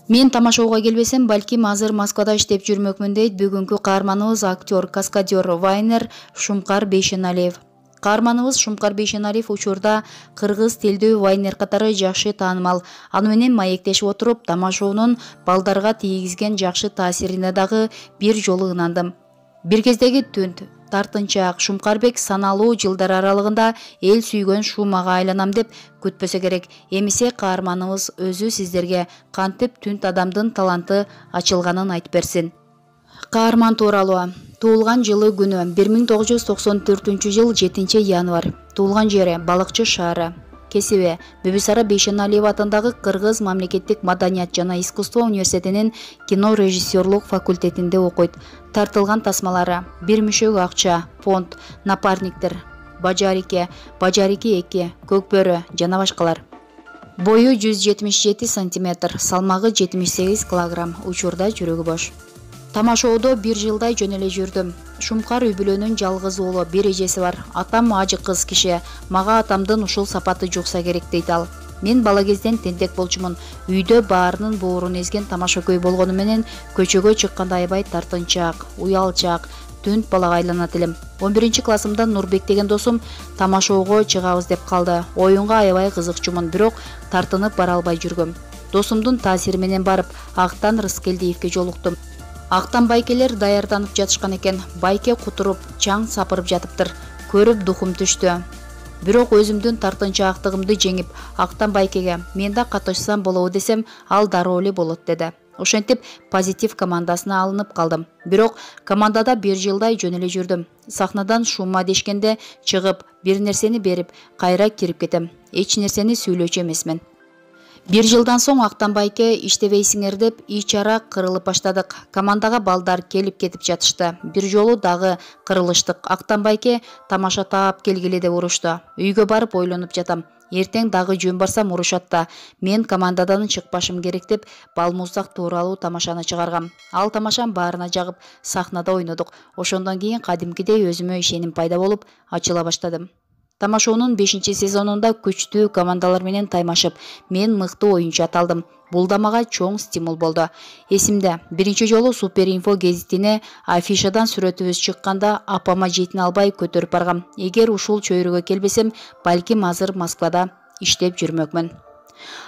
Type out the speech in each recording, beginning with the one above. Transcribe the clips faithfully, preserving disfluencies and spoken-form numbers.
Мен тамашауга келбесем, балким азыр Москвада иштеп жүрмөкмүн дейт бүгүнкү каарманыбыз актер, каскадер, вайнер Шумкар Бейшеналиев. Каарманыбыз Шумкар Бейшеналиев учурда кыргыз тилдүү вайнер катары жакшы таанымал. Аны менен маектешип отуруп, тамашоонун балдарга тийгизген жакшы таасирине дагы бир жолу ынандым. Бир кездеги түнт, тартынчаак Шумкарбек саналуу жылдар аралыгында эл сүйгөн шумага айланам деп күтпөсө керек. Эмесе каарманыбыз өзү сиздерге кантип түнт адамдын таланты ачылганын айтып берсин. Каарман тууралуу. Туулган жылы күнү бир миң тогуз жүз токсон төртүнчү жыл жетинчи январь. Туулган жери Балыкчы шаары. Кесиби Бибисара Бейшеналиева атындагы Кыргыз мамлекеттик маданият жана искусство университетинин кино режиссерлук факультетинде окуйт. Тартылган тасмалары: бир мүшөк акча, фонд, напарниктер, Бажарике, Бажарике эки, Көкбөрү жана башкалар. Бою жүз жетимиш жети сантиметр, салмагы жетимиш сегиз килограмм, учурда жүрөгү бош. Тамашоодо бир жылдай жөн эле жүрдүм. Шумкар үй бүлөнүн жалгыз уулу, бир эжеси бар. Атам ажы кыз киши. Мага атамдын ушул сапаты жукса керек дейт ал. Мен бала кезден тентек болчумун. Үйдө баарынын боорун эзген тамашакөй болгону менен көчөгө чыкканда аябай тартынчаак, уялчаак, түнт балага айланат элем. он биринчи классымда Нурбек деген досум тамашоого чыгабыз деп калды. Оюнга аябай кызыкчумун, бирок тартынып бара албай жүргөм. Досумдун таасири менен барып, Актан Рыскелдиевке жолуктум. Актан байкелер даярданып жатышкан экен. Байке кутуруп, чаң сапырып жатыптыр. Көрүп духум түштү. Бирок өзүмдүн тартынчаактыгымды жеңип, Актан байкеге мен да катышсам болобу десем, ал дароо эле болот деди. Ошентип позитив командасына алынып калдым. Бирок командада бир жылдай жөн эле жүрдүм. Сахнадан шума дешкенде чыгып, бир нерсени берип, кайра кирип кетем. Эч нерсени сүйлөчү эмесмин. Бир жылдан соң Актан байке иштебейсиңер деп ич-ара кырылып баштадык. Командага балдар келип кетип жатышты. Бир жолу дагы кырылыштык. Актан байке тамаша таап келгиле деп урушту. Үйгө барып ойлонуп жатам. Эртең дагы жөн барсам урушат да. Мен командадан чыкпашым керек деп Балмуздак тууралуу тамашаны чыгаргам. Ал тамашам баарына жагып, сахнада ойнодук. Ошондон кийин кадимкидей өзүмө ишеним пайда болуп, ачыла баштадым. Тамашоонун бешинчи сезонунда күчтүү командалар менен таймашып, мен мыкты оюнчу аталдым. Бул да мага чоң стимул болду. Эсимде, биринчи жолу Супер Инфо гезитине афишадан сүрөтүбүз чыкканда апама жетине албай көтөрүп баргам. Эгер ушул чөйрөгө келбесем, балким азыр Москвада иштеп жүрмөкмүн.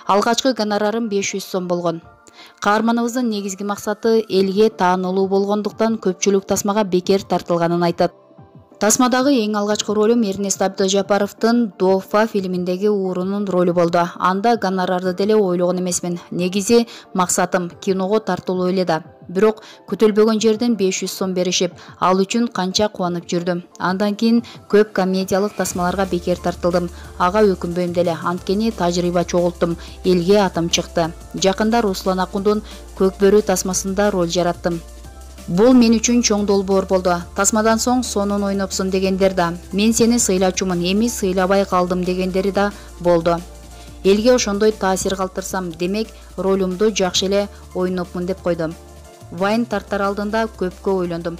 Алгачкы гонорарым беш жүз сом болгон. Каарманыбыздын негизги максаты элге таанылуу болгондуктан көпчүлүк тасмага бекер тартылганын айтат. Тасмадагы эң алгачкы ролум Эрнест Абдыжапаровдун Дофа фильминдеги уурунун ролу болду. Анда гонорарды деле ойлогон эмесмин. Негизи максатым киного тартылуу эле да. Бирок күтүлбөгөн жерден беш жүз сом беришип, ал үчүн канча кубанып жүрдүм. Андан кийин көп комедиялык тасмаларга бекер тартылдым. Ага өкүнбөйм деле, анткени тажрыйба чогулттум, элге атым чыкты. Жакында Руслан Акундун Көкбөрү тасмасында роль жараттым. Бул мен үчүн чоң долбоор болду. Тасмадан соң сонун ойнопсуң дегендер да, мен сени сыйлачумун, эми сыйлабай калдым дегендери да болду. Элге ошондой таасир калтырсам, демек ролумду жакшы эле ойнопмун деп койдум. Вайн тарттар алдында көпкө ойлондум.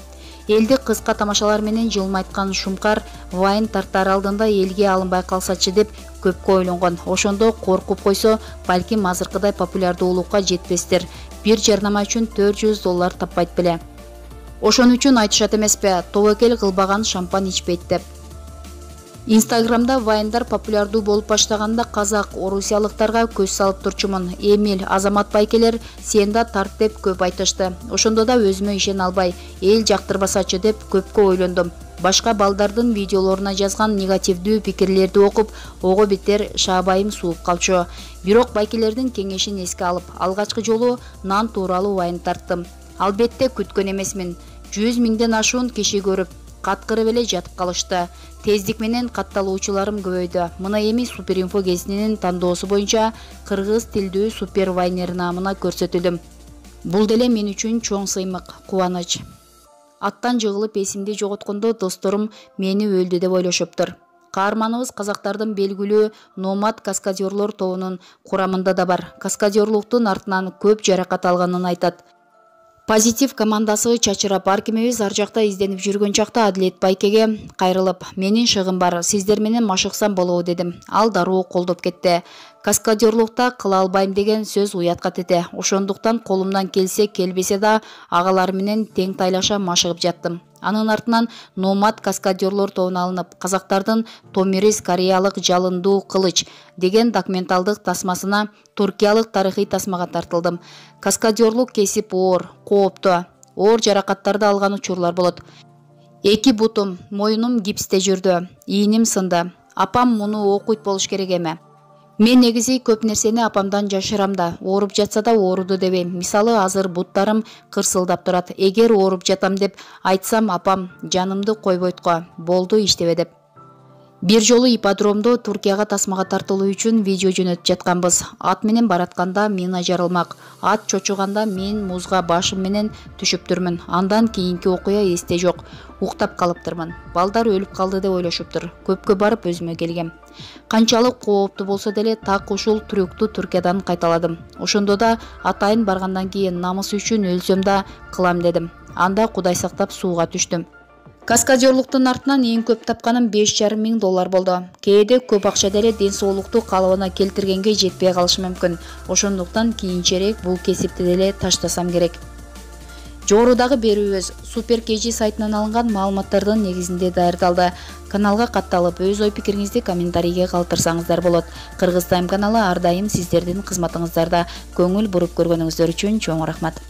Элди кыска тамашалар менен жылмайткан Шумкар вайн тарттар алдында элге алынбай калсачы деп көпкө ойлонгон. Ошондо коркуп койсо, балким азыркыдай популярдуулукка жетпестир. Бир жарнама үчүн төрт жүз доллар таппайт беле. Ошон үчүн айтышат эмеспи, тобокел кылбаган шампан ичпейт деп. Инстаграмда вайндар популярдуу болуп баштаганда казак, орусиялыктарга көз салып турчумун. Эмил, Азамат байкелер сен да тарт деп көп айтышты. Ошондо да өзүмө ишене албай, эл жактырбасачы деп көпкө ойлондум. Башка балдардын видеолоруна жазган негативдүү пикирлерди окуп, ого бетер шаабайым сууп калчу. Бирок байкелердин кеңешин эске алып, алгачкы жолу нан тууралуу вайн тарттым. Албетте күткөн эмесмин. жүз миңден ашуун киши көрүп, каткырып эле жатып калышты. Тездик менен катталуучуларым көбөйдү. Мына эми Супер Инфо гезитинин тандоосу боюнча кыргыз тилдүү супер вайнер наамына көрсөтүлдүм. Бул деле мен үчүн чоң сыймык, кубаныч. Аттан жыгылып эсимди жоготкондо досторум мени өлдү деп ойлошуптур. Каарманыбыз казактардын белгилүү номад каскадерлор тобунун курамында да бар. Каскадерлуктун артынан көп жаракат алганын айтат. Позитив командасы Чачыра паркимебиз ар жакта изденип жүргөн чакта Адилет Байкеге кайрылып, менин шыгым бар, сиздер менен машыксам болобу дедим. Ал дароо колдоп кетти. Каскадерлукта кыла албайм деген сөз уятка тете. Ошондуктан колумдан келсе келбесе да агалар менен тең тайлаша машыгып жаттым. Анын артынан Номад каскадерлор тобуна алынып, казактардын Томирис кореялык жалындуу кылыч деген документалдык тасмасына туркиялык тарыхый тасмага тартылдым. Каскадерлук кесип оор, кооптуу, оор жаракаттарды алган учурлар болот. Эки бутум, моюнум гипсте жүрдү, ийиним сынды. Апам муну окуйт болуш керек эме. Мен негизи көп нерсени апамдан жашырам да, ооруп жатса да ооруду дебейм. Мисалы, азыр буттарым кырсылдап турат. Эгер ооруп жатам деп айтсам, апам жанымды койбойт го, болду иштебе деп. Бир жолу ипподромдо Туркияга тасмага тартылуу үчүн видео жөнөтүп жатканбыз. Ат менен баратканда мина жарылмак. Ат чочуганда мен музга башым менен түшүптүрмүн. Андан кийинки окуя эсте жок. Уктап калыптырмын. Балдар өлүп калды деп ойлошуптур. Көпкө барып өзүмө келгем. Канчалык кооптуу болсо деле так ушул трюкту Түркиядан кайталадым. Ошондо да атайын баргандан кийин намыс үчүн өлсөм да кылам дедим. Анда Кудай сактап сууга түштүм. Каскадерлуктун артынан эң көп тапканым беш жарым миң доллар болду. Кээде көп акча деле ден соолукту калыбына келтиргенге жетпей калышы мүмкүн. Ошондуктан кийинчерээк бул кесипти деле таштасам керек. Жогорудагы берүүбүз Супер Кежи сайтынан алынган маалыматтардын негизинде даярдалды. Каналга катталып, өз ой пикириңизди комментарийге калтырсаңыздар болот. Кыргыз Тайм каналы ар дайым сиздердин кызматыңыздарда. Көңүл буруп көргөнүңүздөр үчүн чоң рахмат.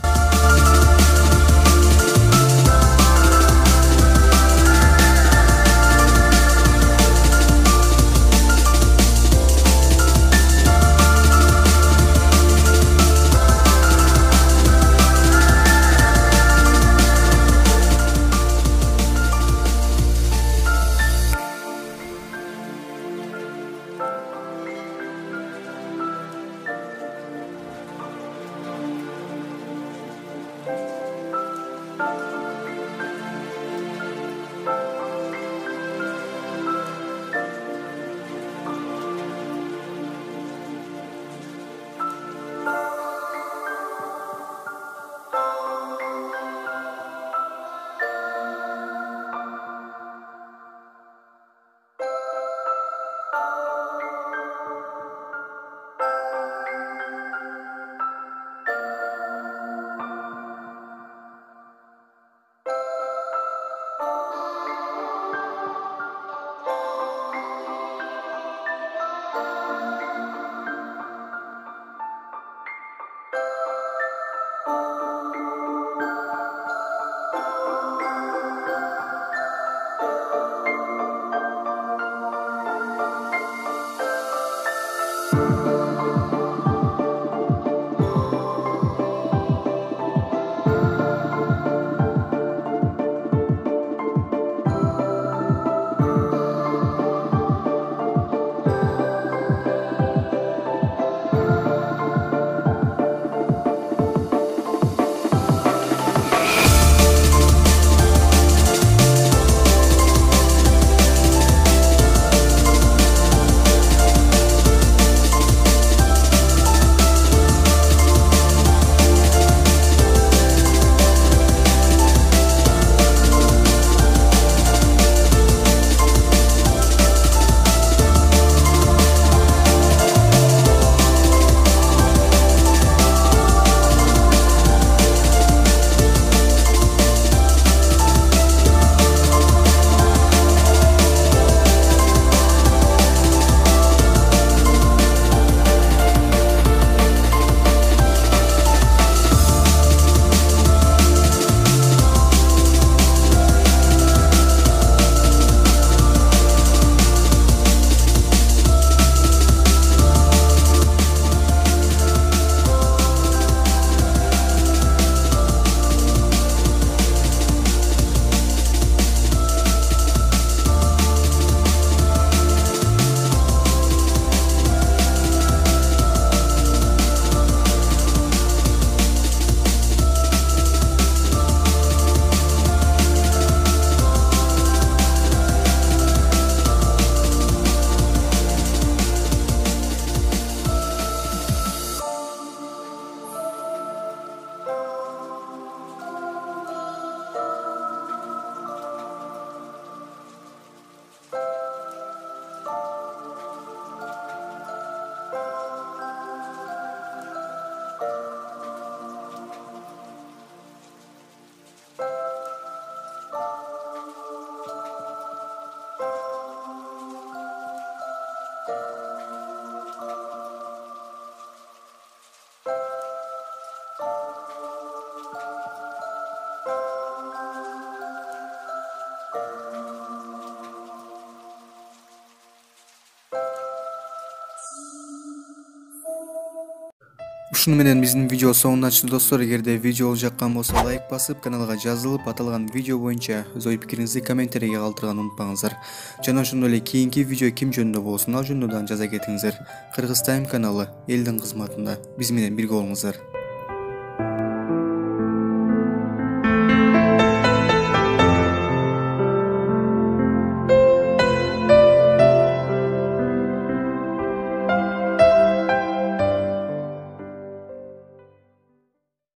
Ушуну менен биздин видео соңуна чыкты достор. Эгерде видео жаккан болсо лайк басып, каналга жазылып, аталган видео боюнча өз ой пикириңизди комментарийге калтырганды унутпаңыздар. Жана ошондой эле кийинки видео ким жөнүндө болсун, ал жөнүндө дагы жаза кетиңиздер. Кыргыз Тайм каналы элдин кызматында. Биз менен бирге болуңуздар.